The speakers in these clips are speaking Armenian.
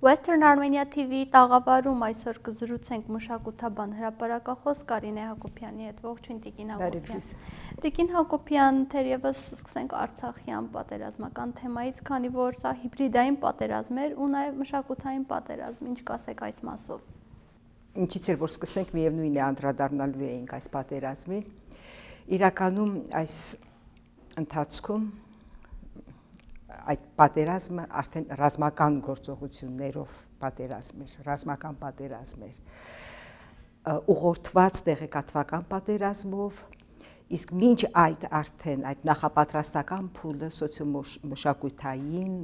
Western Armenia TV տաղավարում այսօր կզրուցենք մշակութաբան հրապարակախոս Կարինե Հակոբյանի հետ։ Ողջույն Տիկին Հակոբյան։ Տիկին Հակոբյան, թերևս սկսենք Արցախյան պատերազմական թեմայից, քանի որ սա հիբրիդային պատերազմ էր ու նաև մշակութային պատերազմ, ինչ կասեք այս մասով։ Ինչից էր որ սկսենք միևնույն է անդրադառնալու էինք այս պատերազմին։ Իրականում այս ընթացքում այդ պատերազմը արդեն ռազմական գործողություններով պատերազմ էր, ռազմական պատերազմ էր, ուղղորդված տեղեկատվական պատերազմով, իսկ մինչ այդ արդեն այդ նախապատրաստական փուլը սոցիոմշակութային,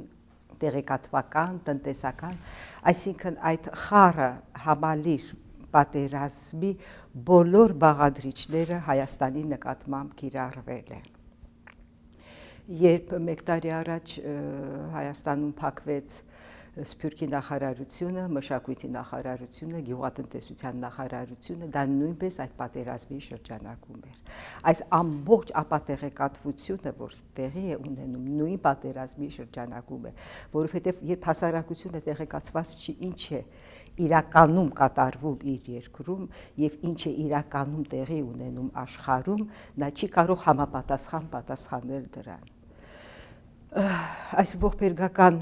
տեղեկատվական, տնտեսական, այսինքն այդ խառը համալիր պատերազմի բոլոր բաղադրիչները Հայաստանի նկատմամբ կիրառվել են։ Երբ մեկ տարի առաջ Հայաստանում փակվեց Սփյուռքի նախարարությունը, մշակույթի նախարարությունը, գյուղատնտեսության նախարարությունը, դա նույնպես այդ պատերազմի շրջանակում էր։ Այս ամբողջ ապատեղեկատվությունը, որ տեղի է ունենում նույն պատերազմի շրջանակում է, որովհետև երբ հասարակությունը տեղեկացված չի ինչ է իրականում կատարվում իր երկրում եւ ինչ է իրականում տեղի ունենում աշխարհում, նա չի կարող համապատասխան պատասխանել դրան։ Այս ողբերգական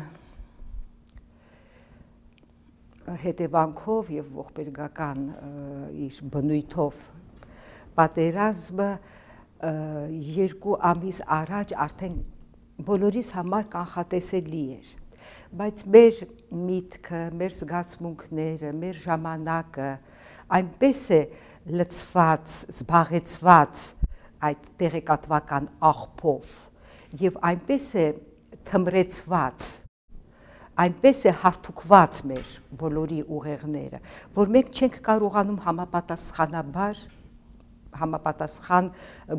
հետևանքով եւ ողբերգական իր բնույթով պատերազմը 2 ամիս առաջ արդեն բոլորիս համար կանխատեսելի էր, բայց մեր միտքը, մեր զգացմունքները, մեր ժամանակը այնպես է լցված, զբաղեցված այդ տեղեկատվական աղբով եւ այնպես է թմրեցված, այնպես է հարթուկված մեր բոլորի ուղեղները, որ մենք չենք կարողանում համապատասխան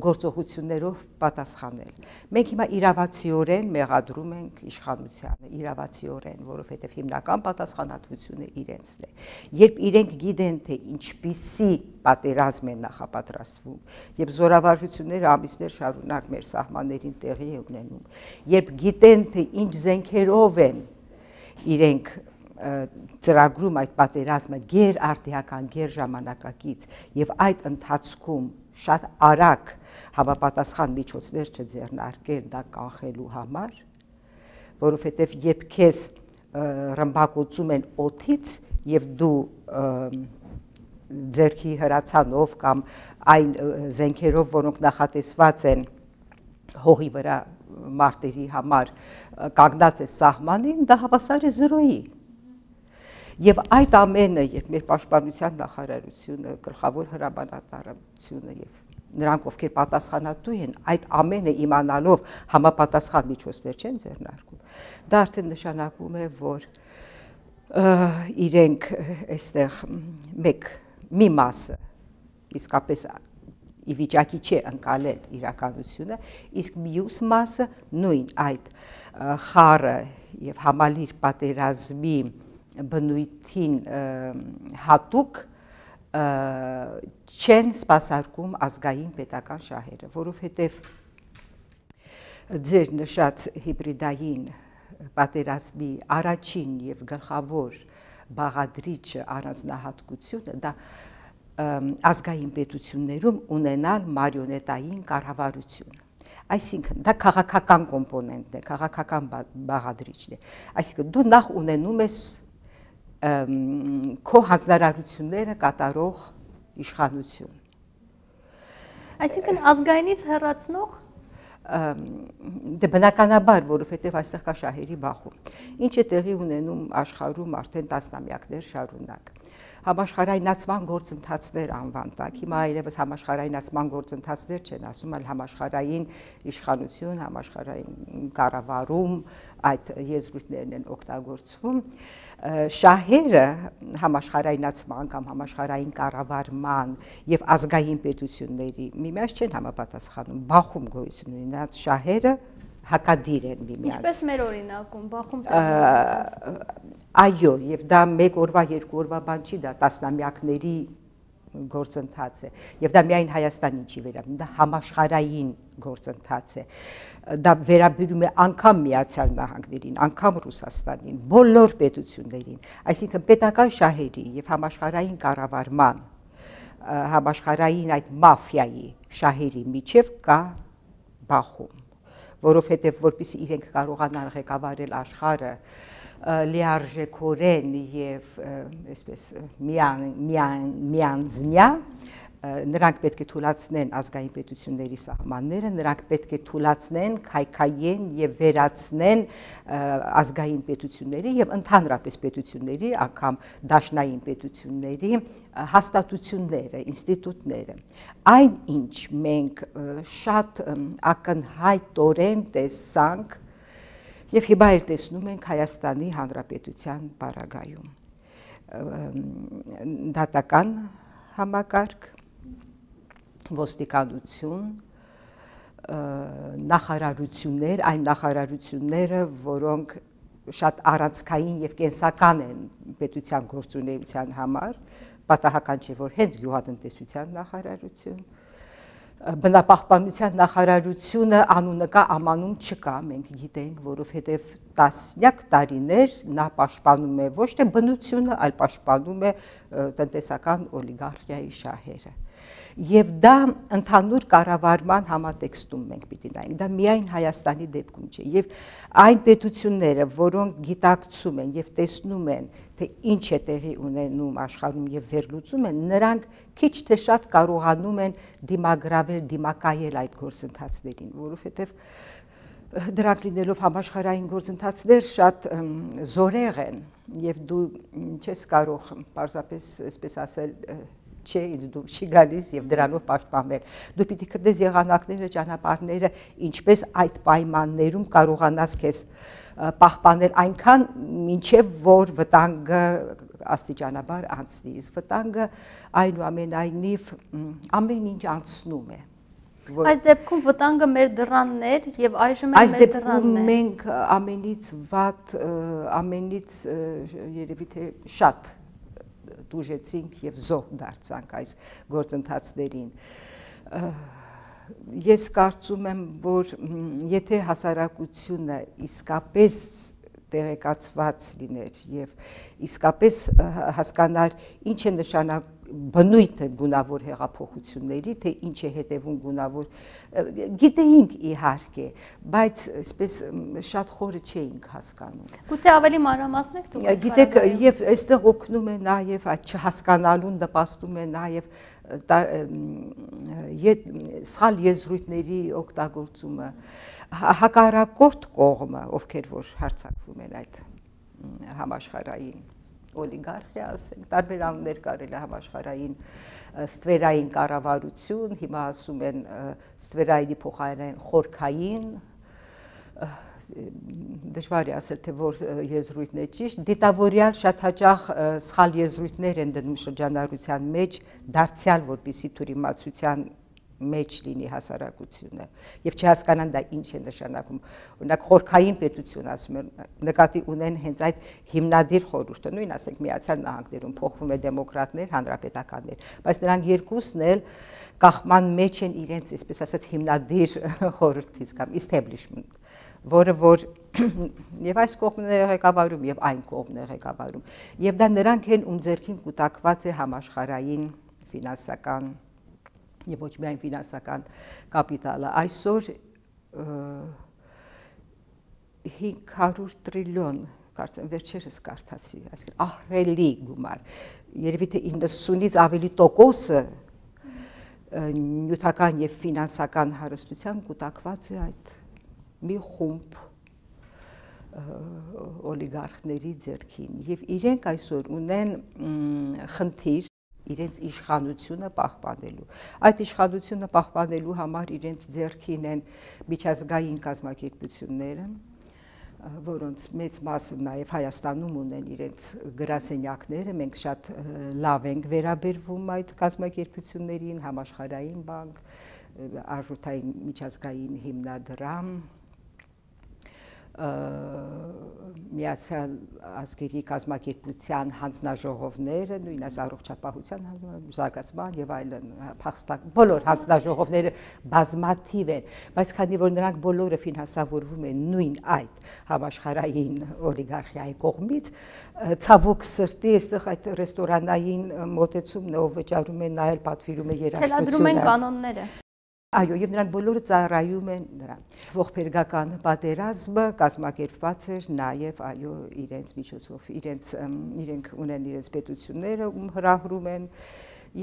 գործողություններով պատասխանել։ Մենք հիմա իրավացիորեն մեղադրում ենք իշխանությանը, իրավացիորեն, որովհետև հիմնական պատասխանատվությունը իրենցն է։ Երբ իրենք գիտեն, թե ինչպիսի պատերազմ են նախապատրաստվում, երբ զորավարժությունները ամիսներ շարունակ մեր սահմաններին տեղի է ունենում, երբ գիտեն, թե ինչ զենքերով են իրենք ծրագրում այդ պատերազմը գերարդիական, գերժամանակակից եւ այդ ընթացքում շատ արագ համապատասխան միջոցներ չձեռնարկել դա կանխելու համար, որովհետեւ երբ քեզ ռմբակոծում են օդից եւ դու ձերքի հրացանով կամ այն զենքերով, որոնք նախատեսված են հողի վրա մարտերի համար կանգնած է սահմանին, դա հավասար է 0-ի։ Եվ այդ ամենը, երբ մեր պաշտպանության նախարարությունը, գլխավոր հրամանատարությունը եւ նրանք, ովքեր պատասխանատու են, այդ ամենը իմանալով համապատասխան միջոցներ չեն ձեռնարկում, դա արդեն նշանակում է, որ իրենք այստեղ մի մասը իսկապես ի վիճակի չէ ընկալել իրականությունը, իսկ մյուս մասը նույն այդ խառը եւ համալիր պատերազմի բնույթին հատուկ չեն սպասարկում ազգային պետական շահերը, որովհետև ձեր նշած հիբրիդային պատերազմի առաջին եւ գլխավոր բաղադրիչը առանձնահատկությունը դա ազգային պետություններում ունենալ մարիոնետային կառավարություն։ Այսինքն դա քաղաքական կոմպոնենտն է, քաղաքական բաղադրիչն է։ Այսինքն դու նախ ունենում ես քո հանձնարարությունները կատարող իշխանություն։ Այսինքն ազգայինից հեռացնող դե բնականաբար, որովհետև այստեղ կա շահերի բախում։ Ինչ է տեղի ունենում աշխարհում արդեն տասնամյակներ շարունակ։ Համաշխարհայնացման գործընթացներ անվան տակ։ Հիմա այլևս համաշխարհայնացման գործընթացներ չեն ասում, այլ համաշխարհային իշխանություն, համաշխարհային կառավարում, այդ եզրույթներն են օգտագործվում։ Շահերը համաշխարհայնացման կամ համաշխարհային կառավարման եւ ազգային պետությունների միմյանց չեն համապատասխանում, բախում գոյություն ունի, նրանց շահերը հակադիր են միմյանց։ Ինչպես մեր օրինակում, բախում Այո, եւ դա մեկ օրվա, երկու օրվա բան չի, դա տասնամյակների գործընթաց է եւ դա միայն Հայաստանին չի վերաբերում, դա համաշխարհային գործընթաց է, դա վերաբերում է անգամ Միացյալ Նահանգներին, անգամ Ռուսաստանին, բոլոր պետություններին, այսինքն պետական շահերի եւ համաշխարհային կառավարման, համաշխարհային այդ մաֆիայի շահերի միջև կա բախում, որովհետեւ որպեսզի իրենք կարողանան ղեկավարել աշխարհը լիարժեքորեն եւ այսպես միանձնյա նրանք պետք է թույլատնեն ազգային պետությունների սահմանները, նրանք պետք է թույլատնեն, քայքայեն եւ վերացնեն ազգային պետությունների եւ ընդհանրապես պետությունների, անգամ դաշնային պետությունների հաստատությունները, ինստիտուտները։ Այն ինչ մենք շատ ակնհայտորեն տեսանք եւ հիմա էլ տեսնում ենք Հայաստանի Հանրապետության պարագայում դատական համակարգ, ոստիկանություն, նախարարություններ, այն նախարարությունները, որոնք շատ առանցքային եւ կենսական են պետության գործունեության համար, պատահական չէ, որ հենց գյուղատնտեսության նախարարություն, բնապահպանության նախարարությունը անունը կա, ամանում չկա, մենք գիտենք, որովհետև տասնյակ տարիներ նա պաշտպանում է ոչ թե բնությունը, այլ պաշտպանում է տնտեսական օլիգարխիայի շահերը։ Եվ դա ընդհանուր կառավարման համատեքստում մենք պիտի նայենք, դա միայն Հայաստանի դեպքում չէ, եւ այն պետությունները, որոնք գիտակցում են եւ տեսնում են, թե ինչ է տեղի ունենում աշխարհում եւ վերլուծում են, նրանք քիչ թե շատ կարողանում են դիմագրավել, դիմակայել այդ գործընթացներին, որովհետեւ դրանք լինելով համաշխարհային գործընթացներ շատ զորեղ են եւ դու չես կարող պարզապես այսպես ասել չէ, ինձ դուր չի գալիս եւ դրանով պաշտպանվել։ Դու պիտի գտնես եղանակները, ճանապարհները, ինչպես այդ պայմաններում կարողանաս քեզ պահպանել այնքան, մինչեւ որ վտանգը աստիճանաբար անցնի։ Իսկ վտանգը այնուամենայնիվ ամեն ինչ անցնում է։ Այս դեպքում վտանգը մեր դռաններ եւ այժմ էլ մեր դռանն է։ Այս դեպքում մենք ամենից վատ, ամենից երևի թե շատ դուժեցինք եւ զոհ դարձանք այս գործընթացներին։ Ես կարծում եմ, որ եթե հասարակությունը իսկապես տեղեկացված լիներ եւ իսկապես հասկանար ինչ է նշանակում բնույթը գունավոր հեղափոխությունների, թե ինչ է հետևում գունավոր, գիտեինք իհարկե, բայց այսպես շատ խորը չէինք հասկանում։ Գուցե ավելի մանրամասնեք դուք։ Գիտեք, եւ այստեղ օգնում է նաեւ այդ չհասկանալուն նպաստում է նաեւ սխալ եզրույթների օգտագործումը, հակառակորդ կողմը, ովքեր որ հարձակվում են այդ համաշխարհային օլիգարխիա, ասենք, տարբեր անուններ կարելի է համաշխարհային ստվերային կառավարություն, հիմա ասում են ստվերայինի փոխարեն խորքային, դժվար է ասել, թե որ եզրույթն է ճիշտ, դիտավորյալ շատ հաճախ սխալ եզրույթներ են դնում շրջանառության մեջ, դարձյալ որպեսզի թյուրիմացության մեջ լինի հասարակությունը եւ չհասկանան դա ինչ է նշանակում։ Օրինակ խորքային պետություն ասում են, նկատի ունեն հենց այդ հիմնադիր խորհուրդը, նույն ասենք Միացյալ Նահանգներում փոխվում է դեմոկրատներ, հանրապետականներ, բայց նրանք երկուսն էլ կախման մեջ են իրենց, այսպես ասած, հիմնադիր խորհրդից կամ establishment, որը որ եւ այս կողմն է ղեկավարում եւ այն կողմն է ղեկավարում։ Եվ դա նրանք են, ում ձեռքին կուտակված է համաշխարհային ֆինանսական եւ ոչ միայն ֆինանսական կապիտալը, այսօր 500 տրիլիոն, կարծեմ վերջերս կարդացի, այսինքն ահռելի գումար, երևի թե 90-ից ավելի տոկոսը նյութական եւ ֆինանսական հարստության կուտակված է այդ մի խումբ օլիգարխների ձեռքին եւ իրենք այսօր ունեն խնդիր իրենց իշխանությունը պահպանելու։ Այդ իշխանությունը պահպանելու համար իրենց ձեռքին են միջազգային կազմակերպությունները, որոնց մեծ մասը նաև Հայաստանում ունեն իրենց գրասենյակները, մենք շատ լավ ենք վերաբերվում այդ կազմակերպություններին, Համաշխարհային բանկ, Արժութային միջազգային հիմնադրամ, Միացյալ ազգերի կազմակերպության հանձնաժողովները, նույն այս առողջապահության զարգացման եւ այլն բոլոր հանձնաժողովները բազմաթիվ են, բայց քանի որ նրանք բոլորը ֆինանսավորվում են նույն այդ համաշխարհային օլիգարխիայի կողմից, ցավոք սրտի այստեղ այդ ռեստորանային մոտեցումն ով վճարում է նայել պատվիրում է երաժշտությունը, թելադրում են կանոնները։ Այո, եւ նրանք բոլորը ծառայում են նրան։ Ողբերգական պատերազմը կազմակերպված էր նաեւ այո իրենց միջոցով, իրենք ունեն իրենց պետությունները, ում հրահրում են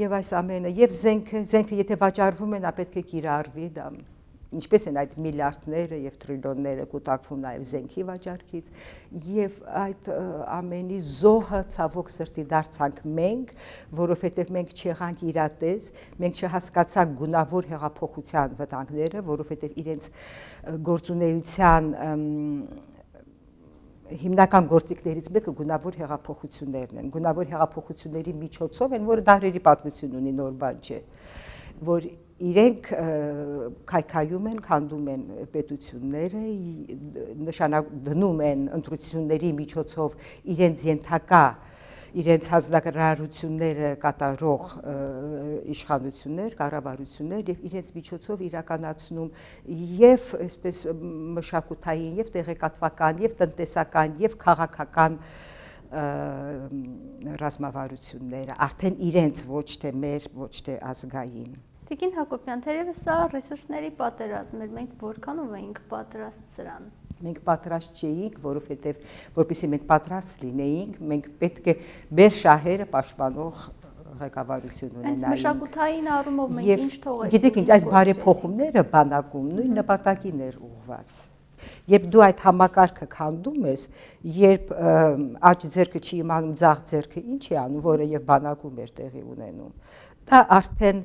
եւ այս ամենը եւ զենքը եթե վաճառվում են, պետք է կիրառվի դա։ Ինչպես են այդ միլիարդները եւ տրիլիոնները կուտակվում նաեւ զենքի վաճառքից եւ այդ ամենի զոհը ցավոք սրտի դարձանք մենք, որովհետեւ մենք չեղանք իրատես, մենք չհասկացանք գունավոր հեղափոխության վտանգները, որովհետեւ իրենց գործունեության հիմնական գործիքներից մեկը գունավոր հեղափոխություններն են։ Գունավոր հեղափոխությունների միջոցով են, որը դարերի պատմություն ունի, նոր բան չէ, որ իրենք քայքայում են, քանդում են պետությունները, դնում են ընտրությունների միջոցով իրենց ենթակա, իրենց հանձնարարությունները կատարող իշխանություններ, կառավարություններ եւ իրենց միջոցով իրականացնում եւ այսպես մշակութային եւ տեղեկատվական եւ տնտեսական եւ քաղաքական ռազմավարությունները, արդեն իրենց ոչ թե մեր, ոչ թե ազգային։ Տիկին Հակոբյան, թերևս սա ռեսուրսների պատերազմ էր, մենք որքանով էինք պատրաստ սրան։ Մենք պատրաստ չէինք, որովհետև որպեսզի մենք պատրաստ լինեինք, մենք պետք է մեր շահերը պաշտպանող ղեկավարություն ունենայինք։ Այս մշակութային առումով մենք ինչ թողեցինք։ Գիտեք ինչ, այս բարեփոխումները բանակում նույն նպատակին էր ուղղված։ Երբ դու այդ համակարգը քանդում ես, երբ աջ ձեռքը չի իմանում ձախ ձեռքը ինչ է անում, որը եւ բանակում էր տեղի ունենում, դա արդեն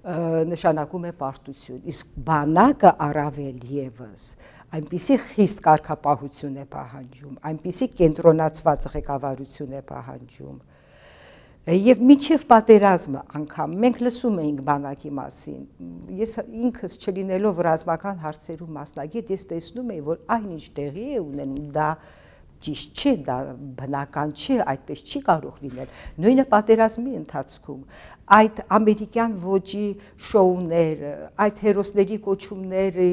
նշանակում է պարտություն, իսկ բանակը առավել եւս այնպիսի խիստ կարգապահություն է պահանջում, այնպիսի կենտրոնացված ղեկավարություն է պահանջում, եւ մինչեւ պատերազմը անգամ մենք լսում էինք բանակի մասին, ես ինքս չլինելով ռազմական հարցերում մասնագետ, ես տեսնում էի, որ այնինչ տեղի է ունենում, դա ճիշտ չէ, դա բնական չէ, այդպես չի կարող լինել։ Նույնը պատերազմի ընթացքում այդ ամերիկյան ոճի շոուները, այդ հերոսների կոչումների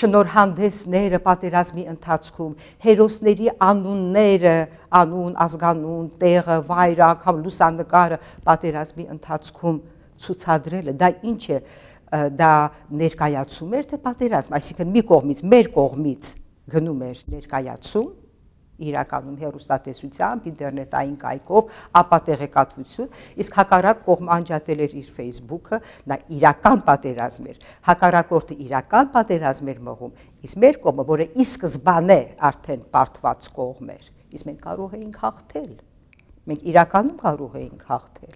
շնորհանդեսները պատերազմի ընթացքում, հերոսների անունները, անուն, ազգանուն, տեղը, վայրը, անգամ լուսանկարը պատերազմի ընթացքում ցուցադրելը, դա ինչ է, դա ներկայացում էր թե պատերազմ, այսինքն մի կողմից, մեր կողմից գնում էր ներկայացում, իրականում հեռուստատեսությամբ, ինտերնետային կայքով, ապա տեղեկատվություն, իսկ հակառակ կողմը անջատել էր իր Facebook-ը, դա իրական պատերազմ էր, հակառակորդը իրական պատերազմ էր մղում, իսկ մեր կողմը, որը ի սկզբանե արդեն պարտված կողմ էր, իսկ մենք կարող էինք հաղթել, մենք իրականում կարող էինք հաղթել,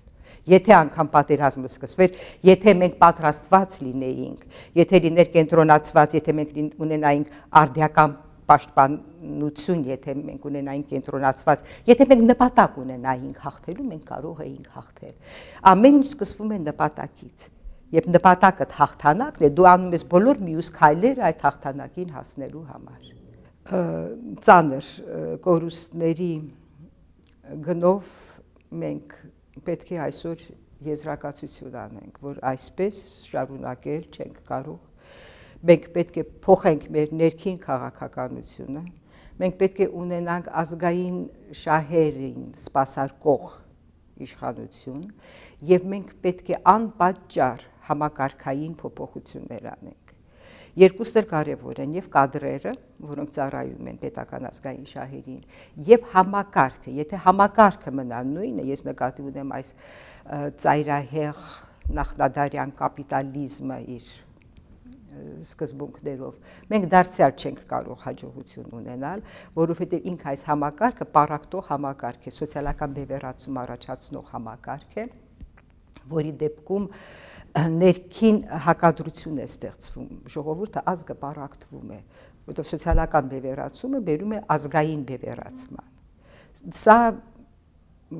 եթե անգամ պատերազմը սկսվեր, եթե մենք պատրաստված լինեինք, եթե լիներ կենտրոնացված, եթե մենք ունենայինք արդիական պաշտպանություն, եթե մենք ունենայինք կենտրոնացված, եթե մենք նպատակ ունենայինք հաղթելու, մենք կարող էինք հաղթել։ Ամեն ինչ սկսվում է նպատակից։ Երբ նպատակդ հաղթանակն է, դու անում ես բոլոր մյուս քայլերը այդ հաղթանակին հասնելու համար։ Ծանր կորուստների գնով մենք պետք է այսօր եզրակացություն անենք, որ այսպես շարունակել չենք կարող։ Մենք պետք է փոխենք մեր ներքին քաղաքականությունը, մենք պետք է ունենանք ազգային շահերին սպասարկող իշխանություն եւ մենք պետք է անպատճառ համակարգային փոփոխություններ անենք։ Երկուսն էլ կարևոր են, եւ կադրերը, որոնք ծառայում են պետական ազգային շահերին, եւ համակարգը, եթե համակարգը մնա նույնը, ես նկատի ունեմ այս ծայրահեղ նախնադարյան կապիտալիզմը իր սկզբունքներով, մենք դարձյալ չենք կարող հաջողություն ունենալ, որովհետև ինք այս համակարգը պարակտող համակարգ է, սոցիալական բևեռացում առաջացնող համակարգ է, որի դեպքում ներքին հակադրություն է ստեղծվում, ժողովուրդը ազգը պարակտվում է, որովհետև սոցիալական բևեռացումը բերում է ազգային բևեռացման։ Սա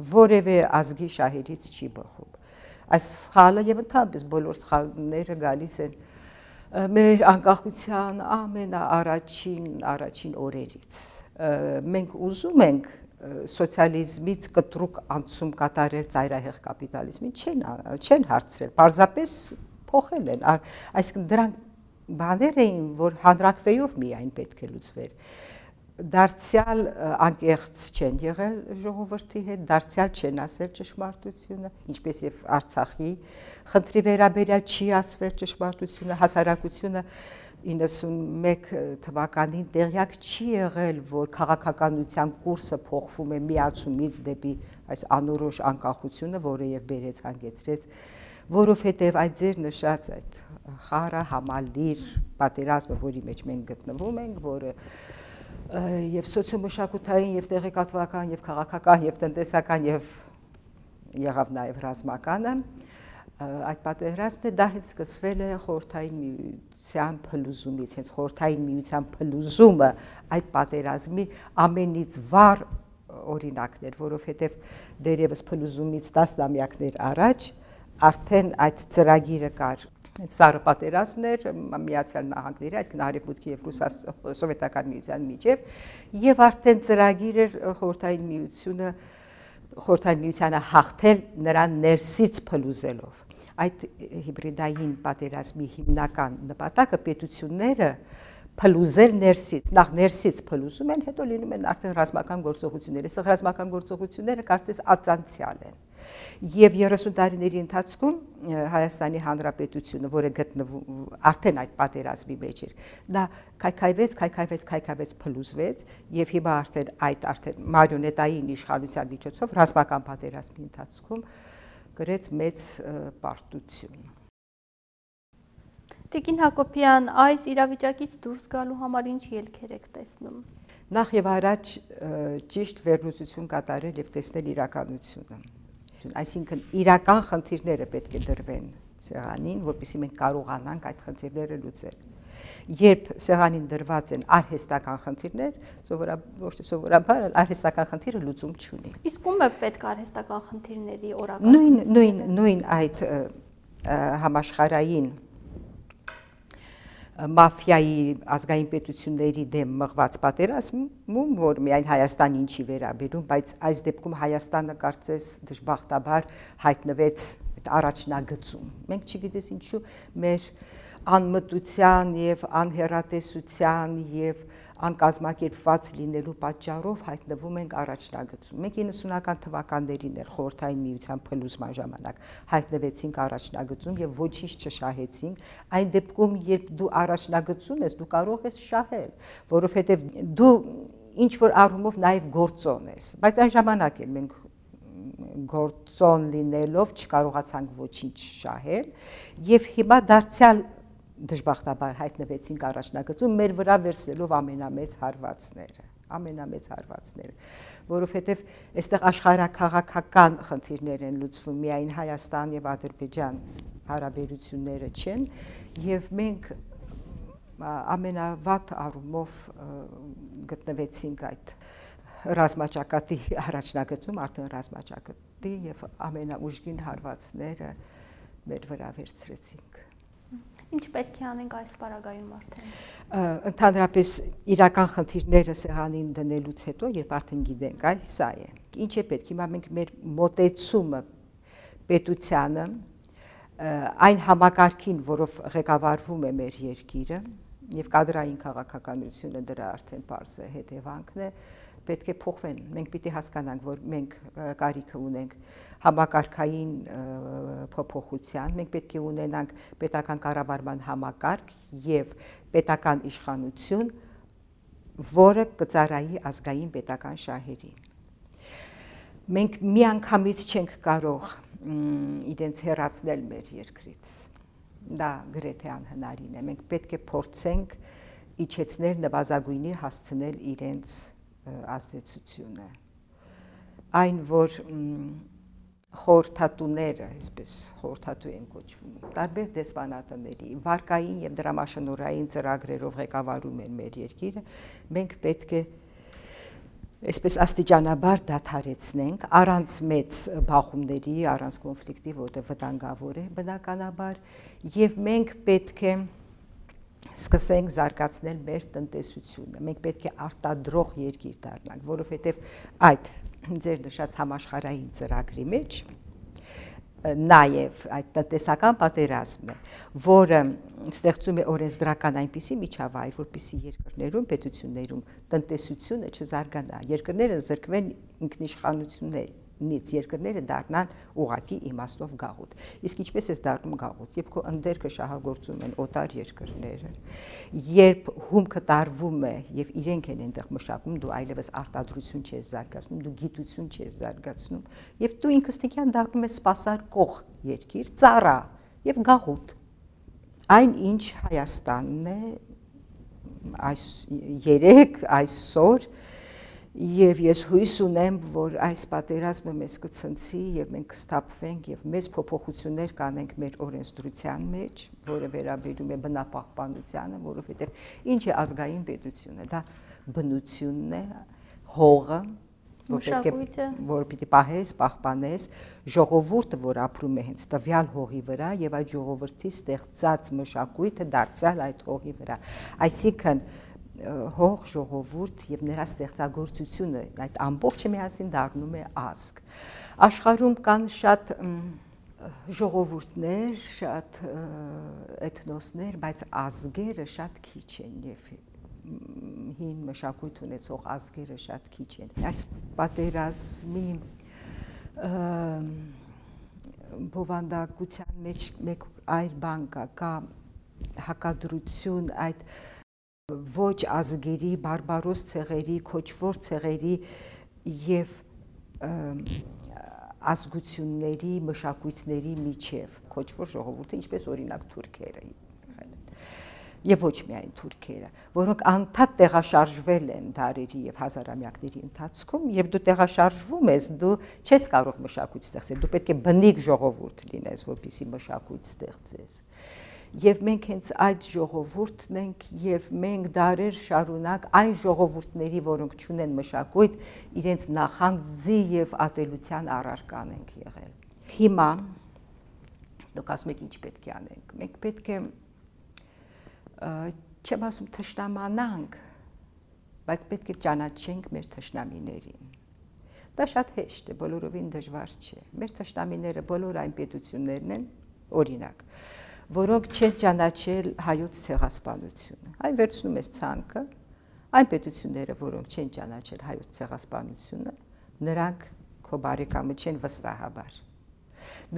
որևէ ազգի շահերից չի բխում։ Այս սխալը եւ ընդհանրապես բոլոր սխալները գալիս են մեր անկախության առաջին օրերից։ Մենք ուզում ենք սոցիալիզմից կտրուկ անցում կատարել ծայրահեղ կապիտալիզմին, չեն հարցրել, պարզապես փոխել են, այսինքն դրանք բաներ էին, որ հանրակրվեով միայն պետք է լուծվեր։ Դարձյալ անկեղծ չեն եղել ժողովրդի հետ, դարձյալ չեն ասել ճշմարտությունը, ինչպես եւ Արցախի խնդրի վերաբերյալ չի ասվել ճշմարտությունը, հասարակությունը 91 թվականին տեղյակ չի եղել, որ քաղաքականության կուրսը փոխվում է միացումից դեպի այս անորոշ անկախությունը, որը եւ բերեց հանգեցրեց, որովհետեւ այդ ձեր նշած այդ խառը համալիր պատերազմը, որի մեջ մենք գտնվում ենք, որը եւ սոցիոմշակութային եւ տեղեկատվական եւ քաղաքական եւ տնտեսական եւ եղավ նաեւ ռազմականը, այդ պատերազմը դա հենց սկսվել է խորհրդային միության փլուզումից, հենց խորհրդային միության փլուզումը այդ պատերազմի ամենից վառ օրինակներ, որովհետև դերևս փլուզումից 10-ամյակներ առաջ արդեն այդ ծրագիրը կար, սառը պատերազմներ Միացյալ Նահանգների, այսինքն Արևմուտքի եւ Սովետական միության միջև, եւ արդեն ծրագիր էր խորհրդային միությանը հաղթել նրան ներսից փլուզելով։ Այդ հիբրիդային պատերազմի հիմնական նպատակը պետությունները փլուզել ներսից, նախ ներսից փլուզում են, հետո լինում են արդեն ռազմական գործողություններ։ Այստեղ ռազմական գործողությունները կարծես ածանցյալ են։ Եվ 30 տարիների ընթացքում Հայաստանի Հանրապետությունը, որը գտնվում արդեն այդ պատերազմի մեջ էր, դա քայքայվեց, փլուզվեց, եւ հիմա արդեն մարիոնետային իշխանության միջոցով ռազմական պատերազմի ընթացքում գրեց մեծ պարտություն։ Տիկին Հակոբյան, այս իրավիճակից դուրս գալու համար ինչ ելքեր եք տեսնում։ Նախ եւ առաջ ճիշտ վերլուծություն կատարել եւ տեսնել իրականությունը։ Այսինքն իրական խնդիրները պետք է դրվեն սեղանին, որպեսզի մենք կարողանանք այդ խնդիրները լուծել։ Երբ սեղանին դրված են արհեստական խնդիրներ, ոչ թե սովորաբար արհեստական խնդիրը լուծում չունի։ Իսկ ում է պետք արհեստական խնդիրների օրակարգ։ Նույն այդ համաշխարհային մաֆիայի ազգային պետությունների դեմ մղված պատերազմում, որ միայն Հայաստանին չի վերաբերում, բայց այս դեպքում Հայաստանը կարծես դժբախտաբար հայտնվեց առաջնագծում։ Մենք չգիտես ինչու մեր անմտության եւ անհեռատեսության եւ անկազմակերպված լինելու պատճառով հայտնվում ենք առաջնագծում։ Մենք 90-ական թվականներին էր խորհրդային միության փլուզման ժամանակ հայտնվեցինք առաջնագծում եւ ոչինչ չշահեցինք։ Այն դեպքում, երբ դու առաջնագծում ես, դու կարող ես շահել, որովհետեւ դու ինչ որ առումով նաեւ գործոն ես, բայց այն ժամանակ էլ մենք գործոն լինելով չկարողացանք ոչինչ շահել եւ հիմա դարձյալ դժբախտաբար հայտնվեցինք առաջնագծում մեր վրա վերցնելով ամենամեծ հարվածները, որովհետև այստեղ աշխարհաքաղաքական խնդիրներ են լուծվում, միայն Հայաստան եւ Ադրբեջան հարաբերությունները չեն, եւ մենք ամենավատ առումով գտնվեցինք այդ ռազմաճակատի առաջնագծում, արդեն ռազմաճակատի եւ ամենաուժգին հարվածները մեր վրա վերցրեցինք։ Ինչ պետք է անենք այս պարագայում արդեն։ Ընդհանրապես իրական խնդիրները սեղանին դնելուց հետո, երբ արդեն գիտենք, այ սա է։ Ինչ է պետք։ Հիմա մենք մեր մոտեցումը պետությանը, այն համակարգին, որով ղեկավարվում է մեր երկիրը, եւ կադրային քաղաքականությունը դրա արդեն պարզ է հետևանքն է, պետք է փոխվեն։ Մենք պիտի հասկանանք, որ մենք կարիք ունենք համակարգային փոփոխության, մենք պետք է ունենանք պետական կառավարման համակարգ եւ պետական իշխանություն, որը կծառայի ազգային պետական շահերին։ Մենք միանգամից չենք կարող իրենց հեռացնել մեր երկրից։ Դա գրեթե անհնարին է։ Մենք պետք է փորձենք իջեցնել, նվազագույնի հասցնել իրենց ազդեցությունը։ Այն, որ խորհրդատուները, այսպես խորհրդատու են կոչվում, տարբեր դեսպանատների, վարկային եւ դրամաշնորհային ծրագրերով ղեկավարում են մեր երկիրը, մենք պետք է այսպես աստիճանաբար դադարեցնենք, առանց մեծ բախումների, առանց կոնֆլիկտի, որտեղ վտանգավոր է բնականաբար, եւ մենք պետք է սկսենք զարգացնել մեր տնտեսությունը։ Մենք պետք է արտադրող երկիր դառնանք, որովհետև այդ ձեր նշած համաշխարհային ծրագրի մեջ նաև այդ տնտեսական պատերազմը, որը ստեղծում է օրենսդրական այնպիսի միջավայր, որպեսզի երկրներում, պետություններում տնտեսությունը չզարգանա, երկրները զրկվեն ինքնիշխանություններից, երկրները դառնան ուղղակի իմաստով գաղութ։ Իսկ ինչպես է դառնում գաղութ, երբ քո ընդերքը շահագործում են օտար երկրները, երբ հումքը տարվում է եւ իրենք են այնտեղ մշակում, դու այլևս արտադրություն չես զարգացնում, դու գիտություն չես զարգացնում, եւ դու ինքստիկյան դառնում ես սպասարկող երկիր, ծառա եւ գաղութ։ Այն ինչ Հայաստանն է այսօր Եվ ես հույս ունեմ, որ այս պատերազմը մեզ կցնցի եւ մենք կստափվենք եւ մեծ փոփոխություններ կանենք մեր օրենսդրության մեջ, որը վերաբերում է բնապահպանությանը, որովհետեւ ինչ է ազգային պետությունը, դա բնությունն է, հողը, որ պիտի պահես, պահպանես, ժողովուրդը, որ ապրում է հենց տվյալ հողի վրա եւ այդ ժողովրդի ստեղծած մշակույթը դարձյալ այդ հողի վրա, այսինքն հող ժողովուրդ եւ նրա ստեղծագործությունը այդ ամբողջը միասին դառնում է ազգ։ Աշխարհում կան շատ ժողովուրդներ, շատ էթնոսներ, բայց ազգերը շատ քիչ են եւ հին մշակույթ ունեցող ազգերը շատ քիչ են։ Այս պատերազմի բովանդակության մեջ մեկ այլ բան կա հակադրություն այդ ոչ ազգերի, բարբարոս ցեղերի, քոչվոր ցեղերի եւ ազգությունների, մշակույթների միջև, քոչվոր ժողովուրդը, ինչպես օրինակ թուրքերը եւ ոչ միայն թուրքերը, որոնք անդադ տեղաշարժվել են դարերի եւ հազարամյակների ընթացքում, եւ դու տեղաշարժվում ես, դու չես կարող մշակույթ ստեղծել, դու պետք է բնիկ ժողովուրդ լինես, որպեսզի մշակույթ ստեղծես։ Եվ մենք հենց այդ ժողովուրդն ենք եւ մենք դարեր շարունակ այն ժողովուրդների, որոնք չունեն մշակույթ, իրենց նախանձի եւ ատելության առարկան ենք եղել։ Հիմա դուք ասում եք ինչ պետք է անենք։ Մենք պետք է չեմ ասում թշնամանանք, բայց պետք է ճանաչենք մեր թշնամիներին։ Դա շատ հեշտ է, բոլորովին դժվար չէ։ Մեր թշնամիները բոլոր այն պետություններն են, օրինակ, որոնք չեն ճանաչել հայոց ցեղասպանությունը։ Այն վերցնում ես ցանկը, այն պետությունները, որոնք չեն ճանաչել հայոց ցեղասպանությունը, նրանք քո բարեկամը չեն վստահաբար։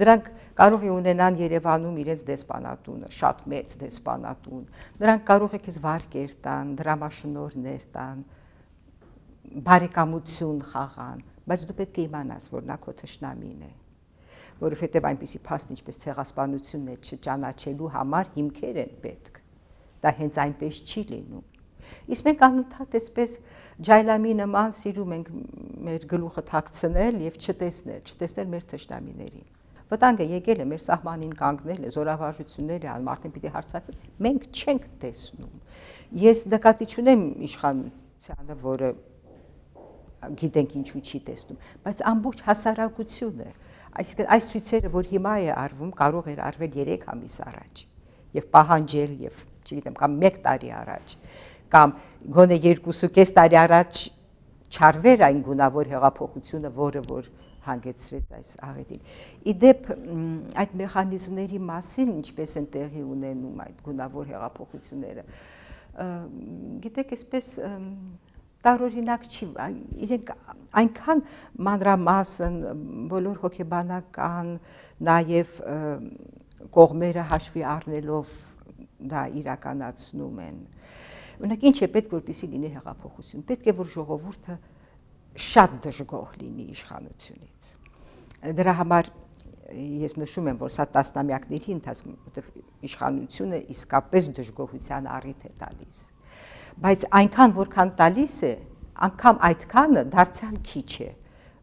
Նրանք կարող է ունենան Երևանում իրենց դեսպանատունը, շատ մեծ դեսպանատուն։ Նրանք կարող է քեզ վարկեր տան, դրամաշնորհներ տան, բարեկամություն խաղան, բայց դու պետք է իմանաս, որ նա քո թշնամին է։ Որովհետև այնպիսի փաստ ինչպես ցեղասպանությունն է չճանաչելու համար հիմքեր են պետք։ Դա հենց այնպես չի լինում։ Իսկ մենք անընդհատ այսպես ջայլամի նման սիրում ենք մեր գլուխը թաքցնել եւ չտեսնել մեր թշնամիներին։ Վտանգը եկել է մեր սահմանին կանգնել է, զորավարժություններ է, մարդին պիտի հարձակվի, մենք չենք տեսնում։ Ես նկատի չունեմ իշխանությանը, որը գիտենք ինչու չի տեսնում, բայց ամբողջ հասարակությունը Այսինքն այս ցույցերը, որ հիմա է արվում, կարող էր արվել 3 ամիս առաջ եւ պահանջել եւ, չգիտեմ, կամ 1 տարի առաջ, կամ գոնե 2.5 տարի առաջ չարվեր այն գունավոր հեղափոխությունը, որը որ հանգեցրեց այս աղետին։ Իդեպ այդ մեխանիզմների մասին ինչպես են տեղի ունենում այդ գունավոր հեղափոխությունները, գիտեք, այսպես տարօրինակ չի, իրենք այնքան մանրամասն բոլոր հոգեբանական, նաև կողմերը հաշվի առնելով դա իրականացնում են։ Օրինակ ինչ է պետք որպեսզի լինի հեղափոխություն։ Պետք է որ ժողովուրդը շատ դժգոհ լինի իշխանությունից։ Դրա համար ես նշում եմ, որ սա տասնամյակների ընթացքում, որտեղ իշխանությունը իսկապես դժգոհության առիթ է տալիս։ Բայց այնքան որքան տալիս է, անգամ այդքանը դարձյալ քիչ է,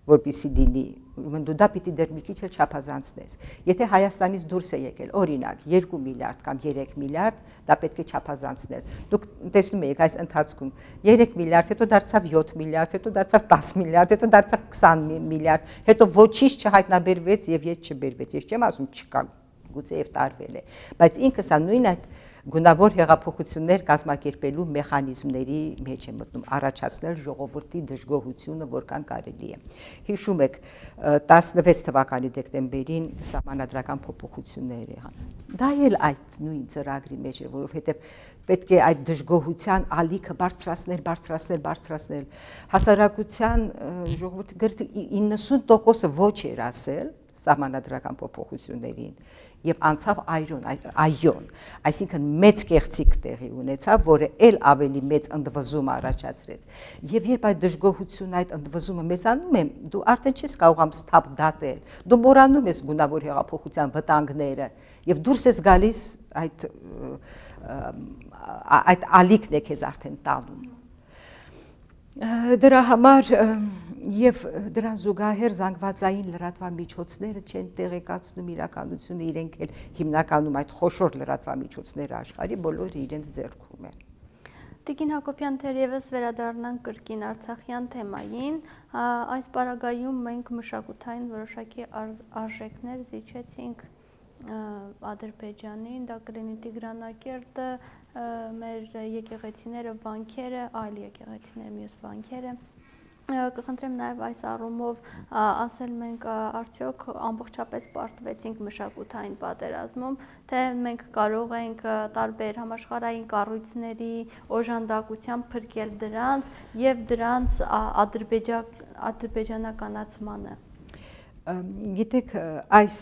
որպեսզի լինի, ուրեմն դու դա պիտի դեռ մի քիչ էլ չափազանցնես։ Եթե Հայաստանից դուրս է եկել, օրինակ, 2 միլիարդ կամ 3 միլիարդ, դա պետք է չափազանցնել։ Դուք տեսնում եք այս ընթացքում 3 միլիարդ, հետո դարձավ 7 միլիարդ, հետո դարձավ 10 միլիարդ, հետո դարձավ 20 միլիարդ, հետո ոչինչ չհայտնաբերվեց եւ ետ չբերվեց։ Ես չեմ ասում չկա գուցե եւ տարվել է, բայց ինքը սա նույն այդ գունավոր հեղափոխություններ կազմակերպելու մեխանիզմների մեջ է մտնում, առաջացնել ժողովրդի դժգոհությունը, որքան կարելի է։ Հիշում եք 16 թվականի դեկտեմբերին սահմանադրական փոփոխություններ եղան։ Դա էլ այդ նույն ծրագրի մեջ է, որովհետև պետք է այդ դժգոհության ալիքը բարձրացնել։ Հասարակության ժողովրդի գրեթե 90%-ը ոչ էր ասել սահմանադրական փոփոխություններին եւ անցավ այոն, այսինքն մեծ կեղծիք տեղի ունեցավ, որը ել ավելի մեծ ընդվզում առաջացրեց։ Եվ երբ այդ դժգոհությունը, այդ ընդվզումը մեծանում է, դու արդեն չես կարողանում սթափ դատել։ Դու մոռանում ես գունավոր հեղափոխության վտանգները եւ դուրս ես գալիս այդ ալիքն է քեզ արդեն տանում։ Դրա համար եւ դրան զուգահեռ զանգվածային լրատվամիջոցները չեն տեղեկացնում իրականությունը, իրենք էլ հիմնականում այդ խոշոր լրատվամիջոցները աշխարհի բոլորը իրենց ձեռքում են։ Տիկին Հակոբյան, թերևս վերադառնանք կրկին արցախյան թեմային, այս պարագայում մենք մշակութային որոշակի արժեքներ զիջեցինք Ադրբեջանին, դա կլինի Տիգրանակերտը, մեր եկեղեցիները, վանքերը, այլ եկեղեցիներ, մյուս վանքերը։ Կխնդրեմ նաև այս առումով ասել մենք արդյոք ամբողջապես պարտվեցինք մշակութային պատերազմում, թե մենք կարող ենք տարբեր համաշխարհային կառույցների օժանդակությամբ փրկել դրանց եւ դրանց ադրբեջանականացմանը։ Գիտեք, այս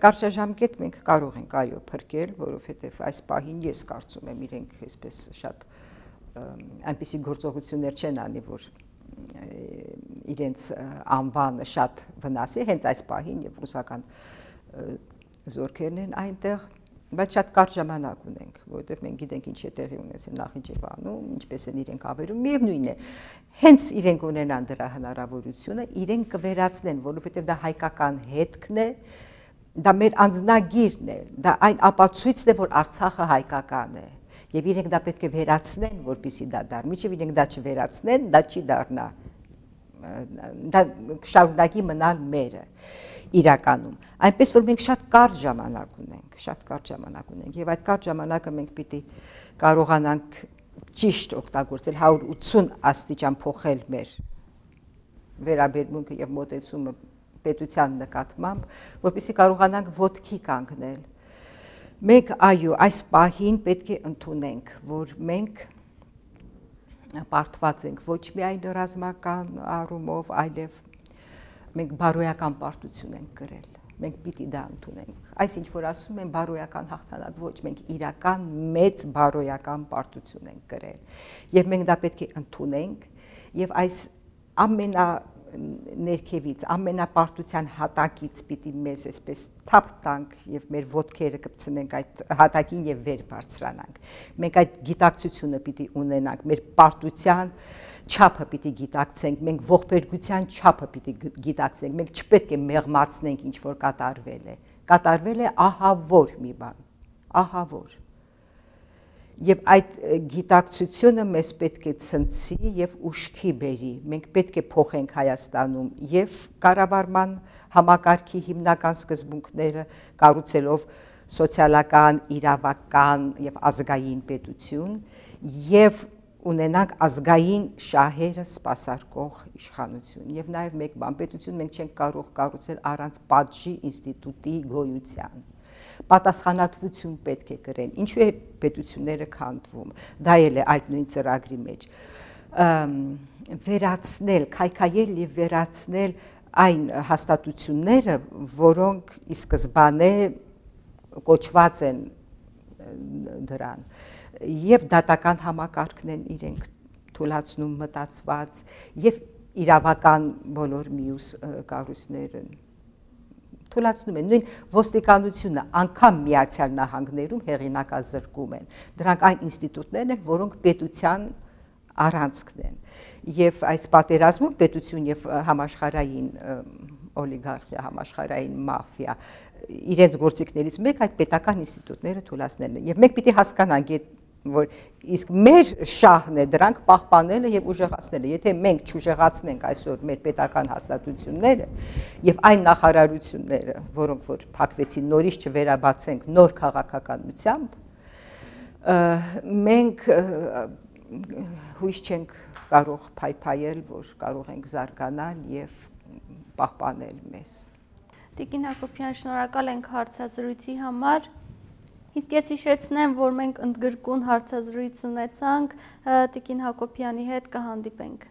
կարճաժամկետ մենք կարող ենք այո փրկել, որովհետև այս պահին ես կարծում եմ իրենք այսպես շատ այնպիսի գործողություններ չեն անի, որ իրենց անվանը շատ վնասի, հենց այս պահին եւ ռուսական զորքերն են այնտեղ, բայց շատ կարճ ժամանակ ունենք, որովհետև մենք գիտենք ինչ է տեղի ունեցել Նախիջևանում, ինչպես են իրենք ավերում, միևնույն է, հենց իրենք ունենան դրա հնարավորությունը, իրենք կվերացնեն, որովհետև դա հայկական հետքն է, դա մեր անձնագիրն է, դա այն ապացույցն է, որ Արցախը հայկական է, եւ իրենք դա պետք է վերացնեն, որպեսզի դա դառնա, մինչեւ իրենք դա չվերացնեն, դա չի դառնա, դա կշարունակի մնալ մերը իրականում, այնպես որ մենք շատ կարճ ժամանակ ունենք, եւ այդ կարճ ժամանակը մենք պիտի կարողանանք ճիշտ օգտագործել, 180 աստիճան փոխել մեր վերաբերմունքը եւ մոտեցումը պետության նկատմամբ, որպեսզի կարողանանք ոտքի կանգնել։ Մենք այո, այս պահին պետք է ընդունենք, որ մենք պարտված ենք ոչ միայն ռազմական առումով, այլև մենք բարոյական պարտություն ենք կրել, մենք պիտի դա ընդունենք, այս ինչ որ ասում են բարոյական հաղթանակ, ոչ, մենք իրական մեծ բարոյական պարտություն ենք կրել, եւ մենք դա պետք է ընդունենք, եւ այս ներքևից, ամենապարտության հատակից պիտի մեզ այսպես թափ տանք եւ մեր ոտքերը կպցնենք այդ հատակին եւ վեր բարձրանանք։ Մենք այդ գիտակցությունը պիտի ունենանք, մեր պարտության չափը պիտի գիտակցենք, մենք ողբերգության չափը պիտի գիտակցենք, մենք չպետք է մեղմացնենք ինչ որ կատարվել է ահավոր մի բան, ահավոր։ Եվ այդ գիտակցությունը մեզ պետք է ցնցի եւ ուշքի բերի, մենք պետք է փոխենք Հայաստանում եւ կառավարման համակարգի հիմնական սկզբունքները կառուցելով սոցիալական, իրավական եւ ազգային պետություն եւ ունենանք ազգային շահերը սպասարկող իշխանություն եւ նաեւ մեկ բան, պետություն մենք չենք կարող կառուցել առանց պատժի ինստիտուտի գոյության։ Պատասխանատվություն պետք է կրեն, ինչու է պետությունները քանդվում, դա էլ է այդ նույն ծրագրի մեջ, վերացնել, քայքայել եւ վերացնել այն հաստատությունները, որոնք ի սկզբանե կոչված են դրան, եւ դատական համակարգն են իրենք թույլատնում մտածված, եւ իրավական բոլոր մյուս կառույցները թույլատնում են, նույն ոստիկանությունը անգամ Միացյալ Նահանգներում հեղինակազրկում են, դրանք այն ինստիտուտներն են, որոնք պետության առանցքն են, եւ այս պատերազմում պետություն եւ համաշխարհային օլիգարխիա, համաշխարհային մաֆիա, իրենց գործիքներից մեկ այդ պետական ինստիտուտները թույլատնել են, եւ մենք պիտի հասկանանք, որ իսկ մեր շահն է դրանք պահպանելը եւ ուժեղացնելը։ Եթե մենք չուժեղացնենք այսօր մեր պետական հաստատությունները եւ այն նախարարությունները, որոնք որ փակվեցին, նորից չվերաբացենք նոր քաղաքականությամբ, մենք հույս չենք կարող փայփայել, որ կարող ենք զարգանալ եւ պահպանել մեզ։ Տիկին Հակոբյան, շնորհակալ ենք հարցազրույցի համար։ Իսկ ես հիշեցնեմ, որ մենք ընդգրկուն հարցազրույց ունեցանք Տիկին Հակոբյանի հետ, կհանդիպենք։